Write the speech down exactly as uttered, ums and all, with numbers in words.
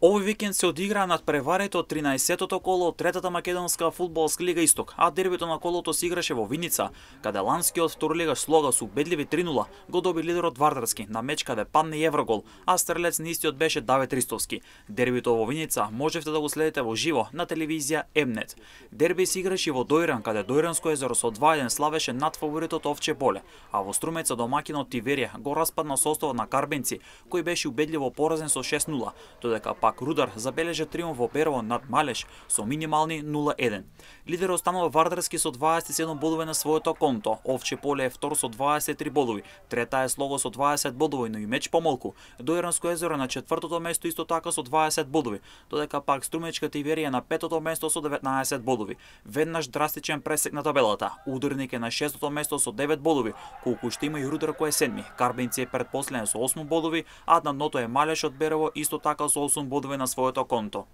Овој викенд се одиграа надпреварите од тринаесеттото коло од третата македонска фудбалска лига Исток, а дербито на колото се играше во Виница, каде ланскиот второлигаш Слога со убедливи три нула го доби лидерот Вардарски на меч каде падна и еврогол, а стрелец на истиот беше Давид Ристовски. Дербито во Виница можевте да го следите во живо на телевизија Емнет. Дерби се играше во Дојран, каде Дојранско езеро со два еден славеше над фаворитот Овче поле, а во Струмеца домаќинот Тиверија го распадна составот на Карбенци, кој беше убедливо поразен со шест нула, додека пак Рудар забележа триумф во Берово над Малеш со минимални нула еден. Лидер останува Вардарски со дваесет и седум бодови на своето конто. Овче поле е втор со дваесет и три бодови. Трета е Слого со дваесет бодови, но и меч помалку. Дојранско езеро на четвртото место исто така со дваесет бодови, додека пак Струмечка Тиверија на петото место со деветнаесет бодови. Веднаш драстичен пресек на табелата. Ударник е на шестото место со девет бодови, колку што има и Рудар кој е седми. Карбенци е предпоследен со осум бодови, а на дното е Малеш од Берово исто така со осум бодови на своето конто.